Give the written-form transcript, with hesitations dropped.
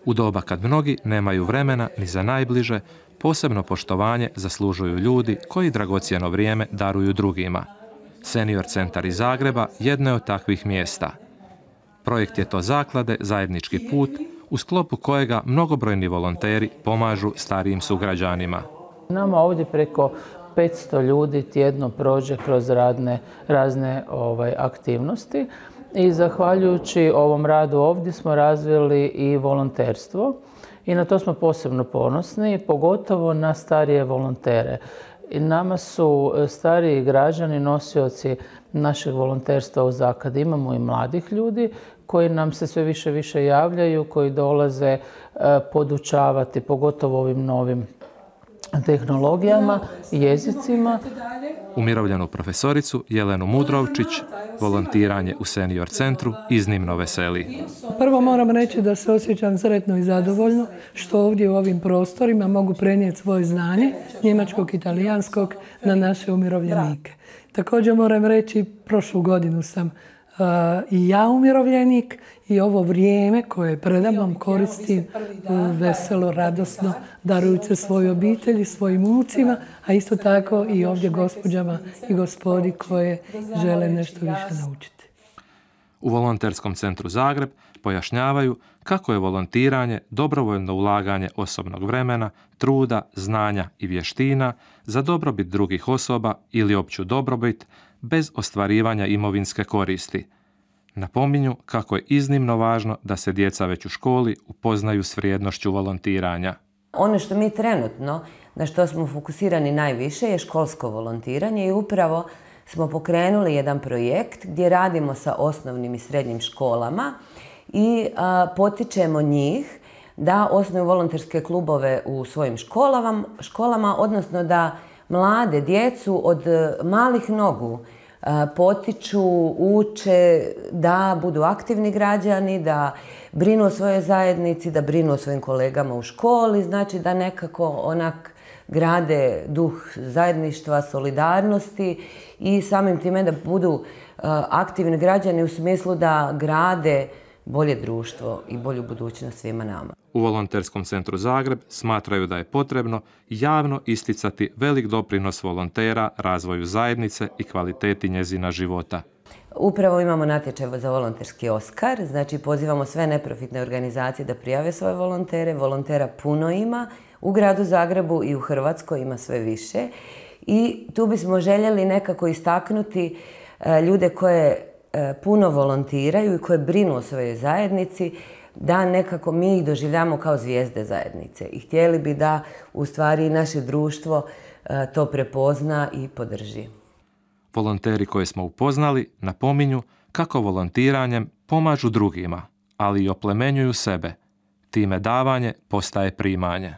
U doba kad mnogi nemaju vremena ni za najbliže, posebno poštovanje zaslužuju ljudi koji dragocjeno vrijeme daruju drugima. Senior centar iz Zagreba jedno je od takvih mjesta. Projekt je to zaklade Zajednički put, u sklopu kojega mnogobrojni volonteri pomažu starijim sugrađanima. Nama ovdje preko 500 ljudi tjedno prođe kroz razne aktivnosti i zahvaljujući ovom radu ovdje smo razvili i volonterstvo i na to smo posebno ponosni, pogotovo na starije volontere. I nama su stariji građani nosioci našeg volonterstva u zakladi. Imamo i mladih ljudi koji nam se sve više javljaju, koji dolaze podučavati, pogotovo ovim novim tehnologijama, jezicima. Umirovljenu profesoricu Jelenu Mudrovčić volontiranje u senior centru iznimno veseli. Prvo moram reći da se osjećam sretno i zadovoljno što ovdje u ovim prostorima mogu prenijeti svoje znanje njemačkog i talijanskog na naše umirovljenike. Također moram reći, prošlu godinu sam i ja umirovljenik i ovo vrijeme koje predamnom koristim veselo, radosno, darujući svojoj obitelji, svojim unucima, a isto tako i ovdje gospođama i gospodi koje žele nešto više naučiti. U Volonterskom centru Zagreb pojašnjavaju kako je volontiranje dobrovoljno ulaganje osobnog vremena, truda, znanja i vještina za dobrobit drugih osoba ili opću dobrobit bez ostvarivanja imovinske koristi. Napominju kako je iznimno važno da se djeca već u školi upoznaju s vrijednošću volontiranja. Ono što mi trenutno, na što smo fokusirani najviše, je školsko volontiranje i upravo smo pokrenuli jedan projekt gdje radimo sa osnovnim i srednjim školama i potičemo njih da osnuju volonterske klubove u svojim školama, odnosno da mlade djecu od malih nogu potiču, uče da budu aktivni građani, da brinu o svojoj zajednici, da brinu o svojim kolegama u školi, znači da nekako onak grade duh zajedništva, solidarnosti i samim time da budu aktivni građani u smislu da grade bolje društvo i bolju budućnost svima nama. U Volonterskom centru Zagreb smatraju da je potrebno javno isticati velik doprinos volontera razvoju zajednice i kvaliteti njezina života. Upravo imamo natječaj za volonterski Oskar, znači pozivamo sve neprofitne organizacije da prijave svoje volontere. Volontera puno ima, u gradu Zagrebu i u Hrvatskoj ima sve više. I tu bismo željeli nekako istaknuti ljude koje puno volontiraju i koje brinu o svojoj zajednici, da nekako mi ih doživljamo kao zvijezde zajednice. I htjeli bi da u stvari naše društvo to prepozna i podrži. Volonteri koje smo upoznali napominju kako volontiranjem pomažu drugima, ali i oplemenjuju sebe. Time davanje postaje primanje.